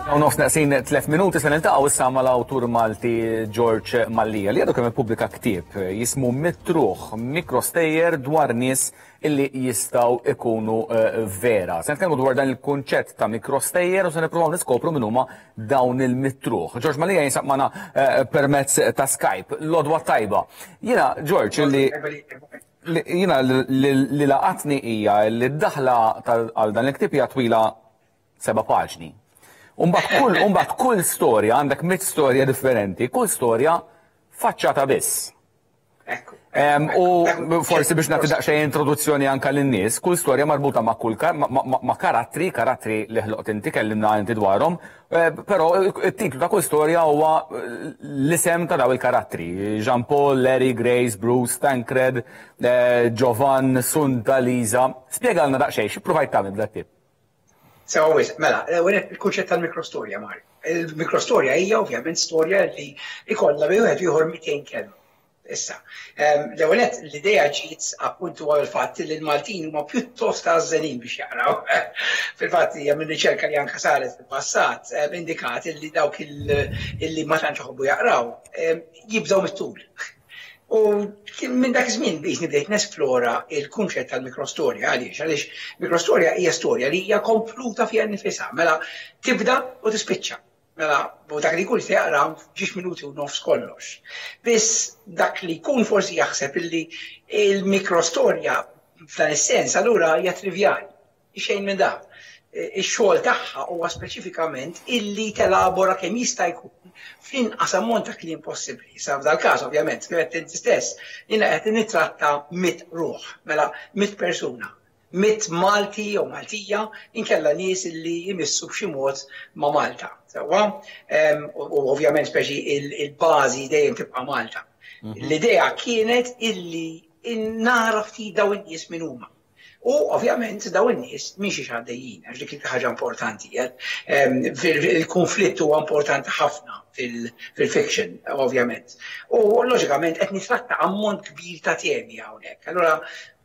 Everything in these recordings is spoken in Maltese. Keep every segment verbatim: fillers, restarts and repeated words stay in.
U nofs neqsin tliet minuti, se niltaqgħu issa mal-awtur Malti George Mallia, li għadu kemm ippubblika ktieb jismu Mitt Ruħ, mikrostejjer dwar nies illi jistgħu ikunu eh, vera. Se nitkellmu dwar dan il-kunċett ta' mikrostejjer u se nippruvaw niskopru min huma dawn il-mitt ruħ. George Mallia jinsab magħna eh, permezz ta' Skype. L-għodwa t-tajba. Jiena, George, illi jiena li laqatni hija li d-daħla għal dan il-ktieb hija twila seba' paġni. Umbagħad kull, umbagħad kull storja, għandek mitt storja differenti, kull storja faċċata biss. U forsi biex nagħti daqsxejn introduzzjoni anka lin-nies, kull storja marbuta ma' kull ma' karattri, karattri li ħloqt inti, kellimna inti dwarhom, eh, però it-titlu ta' kull storja huwa l-isem ta' daw il-karattri. Jean Paul, Larry, Grace, Bruce, Tancred, eh, Giovan, Sunta, Lisa. Spjegalna daqsxejn, xi provajt tagħmel b'dat tip? Sewa, mela, il-kunċett tal-mikrostorja, Mar. Il-mikrostorja hija ovvjament storja li ikollha bejn wieħed ieħor mitejn kelma. Issa, l-ewwel l-idea ġiet appuntu għal fatt li l-Maltin huma pjuttost għażżenin biex jaqraw. Fil-fatt hija minn riċerka li anke saret fil-passat indikat li dawk illi ma tantx iħobbu jaqraw jibżgħu mit-tul. U minn dak iż-żmien biex nibdejt nesplora il-kunċett tal-mikrostorja. Għaliex? Għaliex mikrostorja hija storja li hija kompluta fiha nnifisha, mela tibda u tispiċċa. Mela, u dak li jkun se jaqra ġiex minuti u nofs kollox. Biss dak li jkun forsi jaħseb illi il-mikrostorja f'dan is-sens allura hija trivjali. Xejn minn dak. Ix-xogħol tagħha huwa speċifikament illi telabora kemm jista' jkun fl-inqas ammont ta' kliem possibbli. Sa f'dal-każ ovvjament, kif qed inti stess, jiena qed nittratta mitt ruħ, mela mitt persuna, mitt Malti jew Maltija, inkella nies illi jmissu b'xi mod ma' Malta. Sewwa, u ovvjament speċi il-bażi dejjem tibqa' Malta. Mhm. L-idea kienet illi nara ftit dawn in-nies min huma. U ovvjament dawn in-nies minn xiex għaddejjin, għax dik ħaġa importanti. Il-konflitt huwa importanti ħafna fil-fiction, ovvjament. U loġikament qed nitratta ammont kbir ta' temi hawnhekk. Allura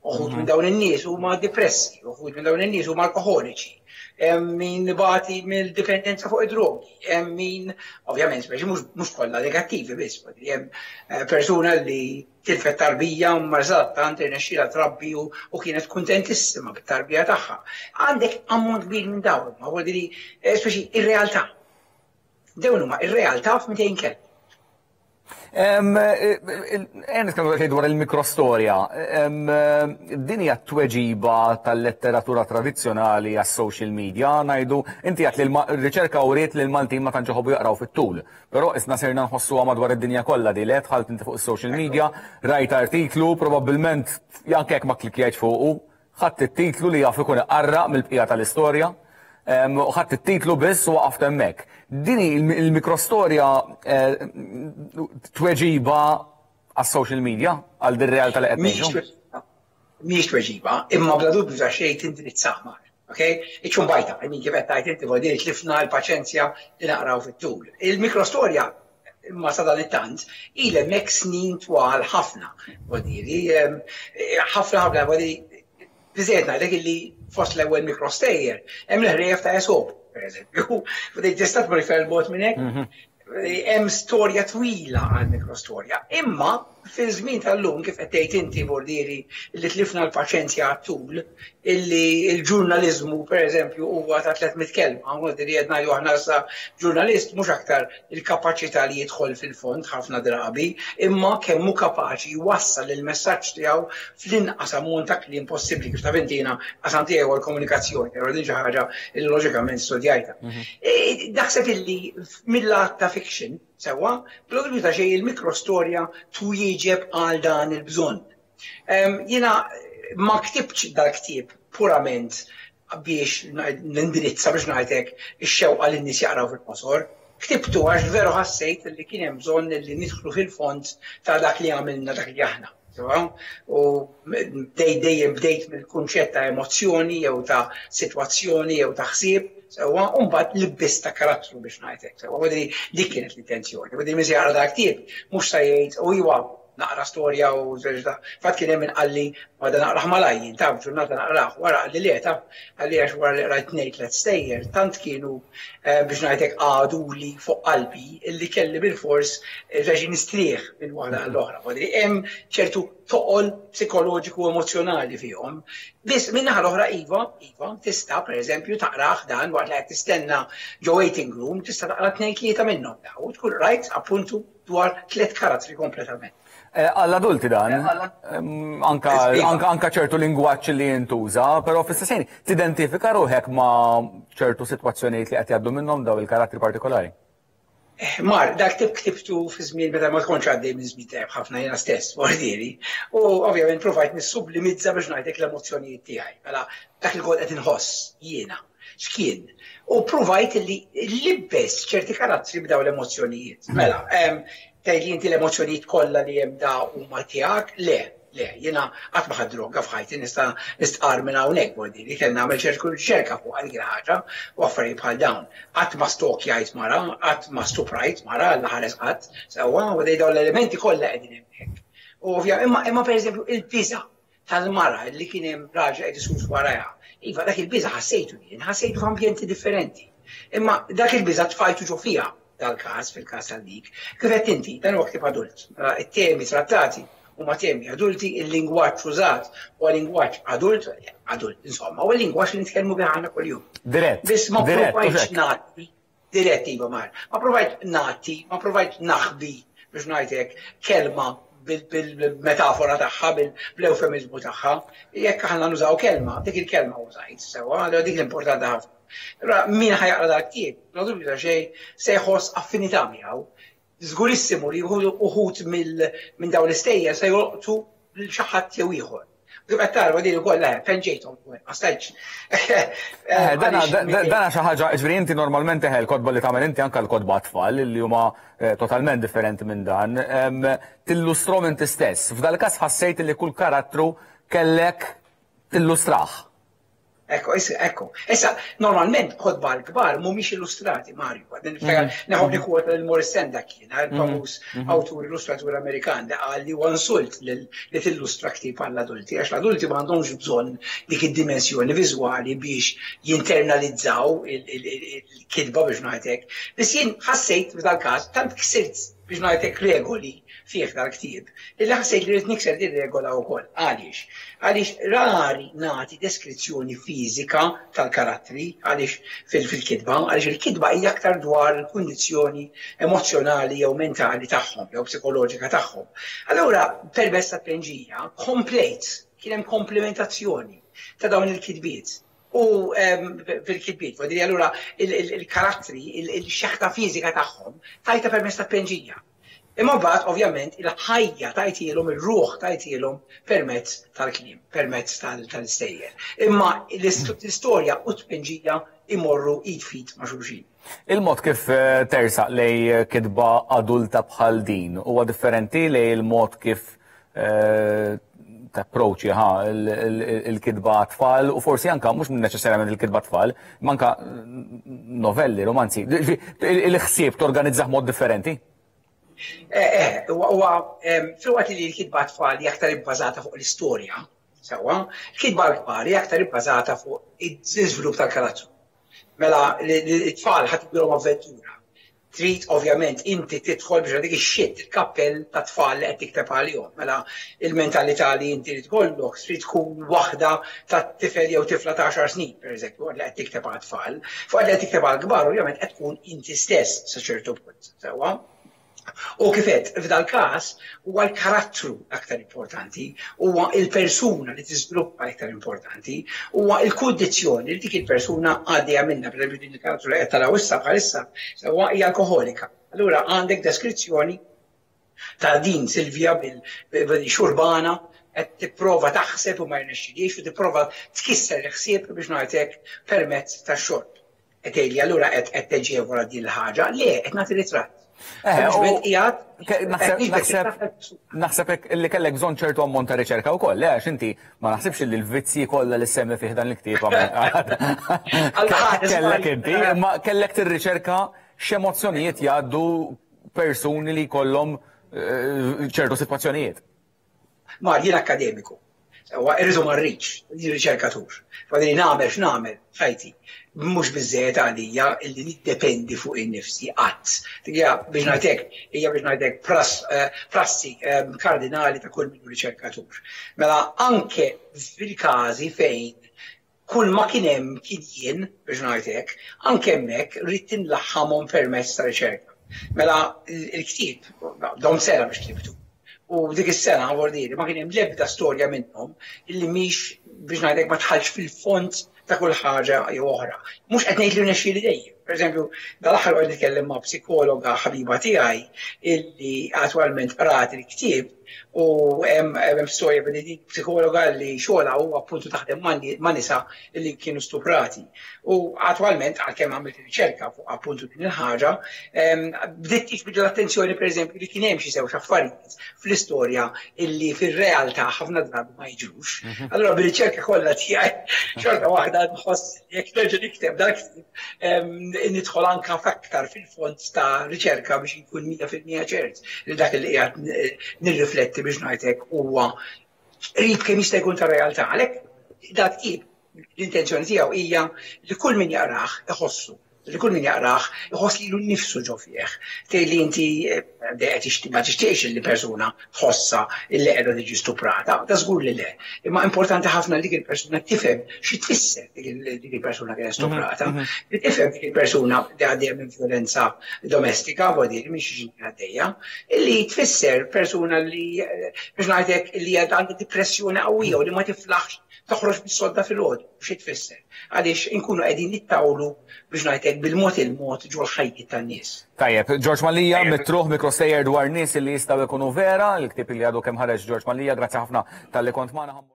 uħud minn dawn in-nies huma depressi, uħud minn dawn in-nies huma alkoholiċi, hemm min ibati mill-dipendenza fuq id-drogi, hemm min, ovvjament, speċi mhux kollha negattivi biss, hemm eh, persuna li tilfet tarbija u marzat irnexxielha trabbi u kienet kuntentissima bit-tarbija tagħha. Għandek ammont kbir minn dawn, ma vuol dire, eh, speċi ir-realtà. Dawn huma ir-realtà f'mitejn kelma. Ejja nitkellmu dwar il-mikrostorja. Din hija tweġiba tal-letteratura tradizzjonali għas-social media, ngħidu inti għedt li r-riċerka uriet li l-Maltin ma tantx iħobbu jaqraw fit-tul. Però isna sirna nħossuha madwar id-dinja kollha di li dħalt inti fuq is-social media, rajt artiklu, probabbilment anke jekk ma klikjajt fuqu, ħadd it-titlu li jaf ikun iqarraq mill-bqija tal-istorja. U ħadd it-titlu biss u waqaft hemmhekk. Dini il-mikrostorja eh, tweġiba għas-social media, għal dir-realtà li qed ngħixu? Mhix tweġiba, imma bla dubju ta' xejn tindirizzaha mar. Okay? Iċ-ċumbajta, I mean, kif qed tgħid inti, vuol tlifna l-paċenzja li naqraw fit-tul. Il-mikrostorja imma sa dan it-tant ilha hemmhekk snin twal ħafna. Vuol ħafna ħafna, vuol biżejjed ngħidlek illi fost l-ewwel mikrostejjer hemm l-ħrejjef ta' Esop, pereżempju. Tista' tmur iktar bogħod minn hekk. Mhm. Hemm storja twila għal mikrostorja. Imma fil-żmien tal-lum, kif qed tgħid inti, bordieri li tlifna l-paċenzja għat-tul, illi l-ġurnaliżmu, pereżempju, huwa ta' tliet mitt kelma, bordieri qed ngħidu aħna sa ġurnalist mhux aktar il-kapaċità li jidħol fil-fond ħafna drabi, imma kemm hu kapaċi jwassal il-messaġġ tiegħu fl-inqas ammont ta' kliem possibbli. Kif taf inti, jiena qasam tiegħu l-komunikazzjoni, però din xi ħaġa li loġikament studjajta. Mhm. E, naħseb illi mill-lat ta' fiction, sewwa, bla dubju ta' xejn il-mikrostorja twieġeb għal dan il-bżonn. Jiena ma ktibx dal-ktieb purament biex nindirizza, biex ngħidlek, ix-xewqa li n-nies jaqraw fil-qosor. Ktibtu għax veru ħassejt li kien hemm bżonn li nidħlu fil-fond ta' dak li għamilna dak li aħna. U dej dejjem bdejt mill-kunċett ta' emozzjoni jew ta' sitwazzjoni jew ta' ħsieb, sewwa, u mbagħad libbist ta' karattru, biex ngħidlek. Sewwa, dik kienet l-intenzjoni. Vuol min jaqra dak ktieb mhux se jgħid u iwa Naqra storja u żerġda. Fatt kien hemm min qalli ma da naqrah malajr, taf ġurnata naqrah, wara qalli le taf, qalli għax wara li qrajt tnejn tliet stejjer, tant kienu biex ngħidlek għaduli fuq qalbi illi kelli bilfors reġi nistrieħ minn waħda għall-oħra. Wadri hemm ċertu toqol psikoloġiku u emozjonali fihom. Biss min-naħa l-oħra iva, iva, tista' pereżempju taqrah dan waqt li qed tistenna ġo waiting room, tista' taqra tnejn tlieta minnhom daw u tkun rajt appuntu dwar tliet karattri kompletament. Għall-adulti dan, anka, anka, anka ċertu lingwaġġ li jintuża, però fl-istess ħin tidentifika ruħek ma' ċertu sitwazzjonijiet li qed jgħaddu minnhom daw il-karattri partikolari. Mar, dak tip ktibtu fi żmien meta ma tkunx għaddej minn żmien tajjeb ħafna jiena stess, vordieri. U ovvjament provajt nissublimizza biex ngħidlek l-emozzjonijiet tiegħi. Mela dak li kont qed inħoss jiena x'kien. U provajt li libbes ċerti karattri b'daw l-emozzjonijiet. Mela, tgħidli inti l-emozzjonijiet kollha li hemm da huma tiegħek? Le, le, jiena qatt ma ħadt droga f'ħajti, nista' nistqar minn hawnhekk vordieri, kelli nagħmel ċerku riċerka fuq dik il-ħaġa u affarijiet bħal dawn. Qatt ma stokjajt mara, qatt ma stuprajt mara, Alla ħares qatt, sewwa, u dawn l-elementi kollha qegħdin hemmhekk. U ovvja, imma imma pereżempju il-biża' tal-mara li kien hemm raġel qed isus warajha. Iva, dak il-biża' ħassejtu jien, ħassejtu f'ambjenti differenti. Imma dak il-biża' tfajtu ġo fiha dal-każ, fil-każ tal-dik. Kif qed inti, dan huwa ktieb adult. Mela, it-temi trattati huma temi adulti, il-lingwaġġ użat huwa lingwaġġ adult, adult, insomma, huwa lingwaġġ li nitkellmu bih aħna kuljum. Dirett. Biss ma Dirett, provajtx użek. nagħti, dirett iva mar, ma provajt nagħti, ma provajt naħbi biex ngħidlek kelma bil-metafora tagħha, bil-eufemizmu tagħha. Jekk aħna nużaw kelma, dik il-kelma użajt, sewwa, allura dik l-importanti ħafna. Allura min ħa jaqra dak ktieb, bla dubju ta' xejn, se jħoss affinità miegħu. Żgurissimu li uħud minn dawn l-istejjer se jolqtu lil xi ħadd jew ieħor. Kif qed tara din ukoll eh, penġejthom ukoll, ma stajtx. Eh, dana dana xi ħaġa, ġifieri inti normalment eħe l-kotba li tagħmel inti anke l-kotba tfal li huma eh, totalment differenti minn dan, tillustrom inti stess. F'dal-każ ħassejt li kull karattru kellek tillustrah. Ekku, issa, ekku. Issa, normalment kotba l-kbar mhumiex illustrati, Mario. Naħob li kwota lil Maurice Sendak kien, il-famuż awtur illustratur Amerikan li qal li huwa insult li tillustra ktieb għall-adulti, għax l-adulti m'għandhomx bżonn dik id-dimensjoni viżwali biex jinternalizzaw il-kitba biex ngħidlek. Biss jien ħassejt f'dal-każ tant ksirt biex ngħidlek regoli fih dal-ktieb, illi ħassejt li rrid nikser din regola wkoll. Għaliex? Għaliex rari nagħti deskrizzjoni fiżika tal-karattri, għaliex fil-kitba, għaliex il-kitba hija aktar dwar il-kundizzjoni emozjonali jew mentali tagħhom, jew psikoloġika tagħhom. Allura, permezz ta' tpenġija, komplejt, kien hemm komplementazzjoni ta' dawn il-kitbiet. U fil-kitbiet, voldiri allura il-karattri, il-xeħta fiżika tagħhom tajta permezz ta' tpenġija. Imma mbagħad ovvjament il-ħajja tajtilhom, ir-ruħ tajtilhom permezz tal-kliem, permezz tal-istejjer. Imma l-istorja u t-tpenġija imorru id f'id ma' xulxin. Il-mod kif tersaq lej kitba adulta bħal din huwa differenti lej il-mod kif tapproċċi ħa il-kitba tfal u forsi anka mhux neċessarjament il-kitba tfal, ma anka novelli, romanzi. Il-ħsieb torganizzah mod differenti? Eh, eh, huwa filwaqt li l-kitba tfal hija aktar ibbażata fuq l-istorja, sewwa, l-kitba l-kbar hija aktar ibbażata fuq iż-żvilupp tal-karattru. Mela l-tfal ħadd tibdilhom avventura. Trid ovvjament inti tidħol biex dik ix-xit il-kappell ta' tfal li qed tikteb għalihom. Mela il-mentalità li inti trid tkollok trid tkun waħda ta' tifel jew tifla ta' għaxar snin, pereżempju, li qed tikteb għal tfal. Fuq li qed tikteb għal kbar ovvjament qed tkun inti stess sa ċertu punt, sewwa. U kif għedt, f'dal każ huwa l-karattru aktar importanti, huwa il-persuna li tiżviluppa aktar importanti, huwa l-kundizzjoni li dik il-persuna għaddejja minnha, pereżempju din il-karattru li qed taraw issa bħalissa, sewwa hija alkoholika. Allura għandek deskrizzjoni ta' din Silvia bil-xurbana qed tipprova taħseb u ma jirnexxilhiex u tipprova tkisser il-ħsieb biex ngħidlek permezz tax-xorb. Qed tgħidli allura qed qed teġevola din il-ħaġa, le qed nagħti ritratt. Naħseb li kellek bżonn ċertu ammont ta' riċerka wkoll, le għax inti ma naħsibx li l-vizzji kollha li semmi fih dan il-ktieb kellek inti, imma kellek tirriċerka x'emozzjonijiet jgħaddu persuni li jkollhom ċertu sitwazzjonijiet. Ma jien akkademiku. Sewwa, irridu ma rridx, jien riċerkatur. Fadli nagħmel x'nagħmel ħajti. Mhux biżejjed għalija illi niddependi fuq innifsi qatt. Hija biex ngħidlek, hija biex ngħidlek prassi kardinali ta' kull min riċerkatur. Mela anke fil-każi fejn kull ma kien hemm kien jien, biex ngħidlek, anke hemmhekk rrid inlaħħamhom permezz ta' riċerka. Mela il-ktieb dom sena biex ktibtu. U dik is-sena għordiri ma kien hemm l-ebda storja minnhom illi mhix biex ngħidlek ma tħallx fil-fond ta' kull ħaġa jew oħra. Mhux qed ngħid li rnexxieli dejjem. Pereżempju, dal-aħħar qed nitkellem ma' psikologa ħabiba tiegħi illi attwalment qrat il-ktieb u hemm storja billi dik psikologa li xogħolha huwa appuntu taħdem ma' nisa illi kienu stuprati. U attwalment għalkemm għamilt riċerka fuq appuntu din il-ħaġa, bdiet tiġbid l-attenzjoni pereżempju li kien hemm xi żewġ affarijiet fl-istorja illi fir-realtà ħafna drabi ma jiġrux. Allura bir-riċerka kollha tiegħi xorta waħda nħoss jekk nerġa' nikteb dak nidħol anka f'aktar fil-fond ta' riċerka biex nkun mija fil-mija ċert li dak li qiegħed nirrifletti biex ngħidlek huwa qrib kemm jista' jkun ta' realtà. Għalhekk dak ktieb l-intenzjoni tiegħu hija li kull min jaqrah iħossu, li kull min jaqrah iħoss lilu nnifsu ġo fih. Tgħid li inti ma tixtieqx li persuna tħossha illi qiegħda tiġi stuprata, da żgur li le. Imma importanti ħafna li dik il-persuna tifhem xi tfisser dik il-persuna kienet stuprata, li tifhem dik il-persuna li għaddejja minn violenza domestika, vuol minn xi għaddejja, illi tfisser persuna li biex ngħidlek li għandha depressjoni qawwija u li ma tiflaħx toħroġ bis-sodda fil-għodu, xi tfisser. Għaliex inkunu qegħdin nittawlu biex ngħidlek bil-mod il-mod ġol ħajjiet tan-nies. Tajjeb, George Mallia, Mitruħ, mikrostejjer dwar nies li jistgħu jkunu vera, il-ktieb li għadu kemm ħareġ George Mallia, grazzi ħafna talli kont magħna.